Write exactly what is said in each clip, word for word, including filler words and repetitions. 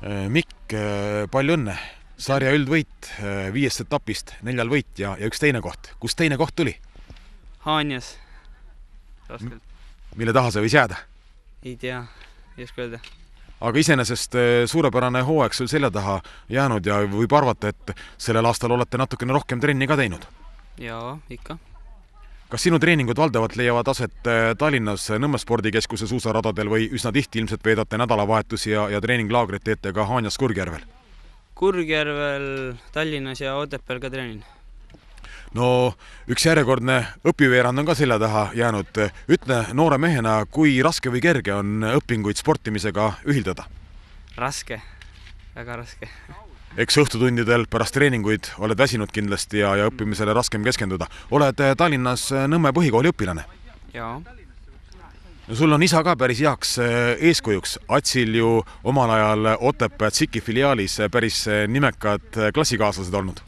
Mikk, palju õnne. Sarja üldvõit viiest etapist, neljal võit ja, ja üks teine koht. Kus teine koht tuli? Haanjas. Raskelt. Mille taha see võis jääda? Ei tea, ei oska öelda. Aga iseenesest suurepärane hooaeg sul selja taha jäänud ja võib arvata, et sellel aastal olete natukene rohkem trenni ka teinud. Jaa, ikka. Kas sinu treeningud valdavalt leiavad aset Tallinnas Nõmme spordikeskuse suusaradadel või üsna tihti ilmselt veedate nädalavahetusi ja, ja treeninglaagrit teete ka Haanjas Kurgjärvel? Kurgjärvel, Tallinnas ja Otepääl ka treenin. No üks järjekordne õpiveerand on ka selja taha jäänud. Ütle noore mehena, kui raske või kerge on õpinguid sportimisega ühildada? Raske, väga raske. Eks õhtutundidel pärast treeninguid oled väsinud kindlasti ja, ja õppimisele raskem keskenduda. Oled Tallinnas Nõmme põhikooli õpilane? Jaa. No sul on isa ka päris heaks eeskujuks. Atsil ju omal ajal Otepää Tsiki filiaalis päris nimekad klassikaaslased olnud.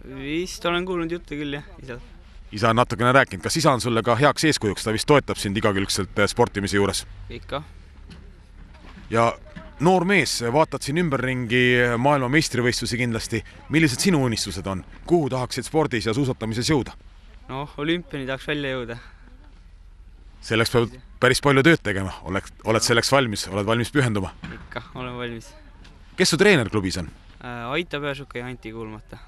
Vist olen kuulnud jutte küll, jah, isa. Isa on natukene rääkinud. Kas isa on sulle ka heaks eeskujuks? Ta vist toetab sind igakülgselt sportimise juures. Ikka. Ja noor mees, vaatad siin ümberringi maailma meistrivõistlusi kindlasti. Millised sinu unistused on? Kuhu tahaksid spordis ja suusatamises jõuda? No, olümpiani tahaks välja jõuda. Selleks peab päris palju tööd tegema. Oled, oled selleks valmis? Oled valmis pühenduma? Ikka, olen valmis. Kes su treener klubis on? Aita Pääsuka ja Anti Kuulmata.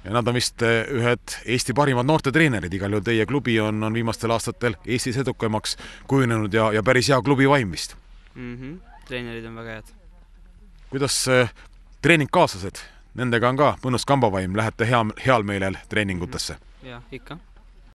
Ja nad on vist ühed Eesti parimad noorte treenerid. Igal juhul teie klubi on, on viimastel aastatel Eestis edukamaks kujunenud ja, ja päris hea klubi vaim vist. Mhm. Treenerid on väga head. Kuidas treeningkaaslased? Nendega on ka mõnus kambavaim, lähete hea, heal meelel treeningutesse? Ja, ikka.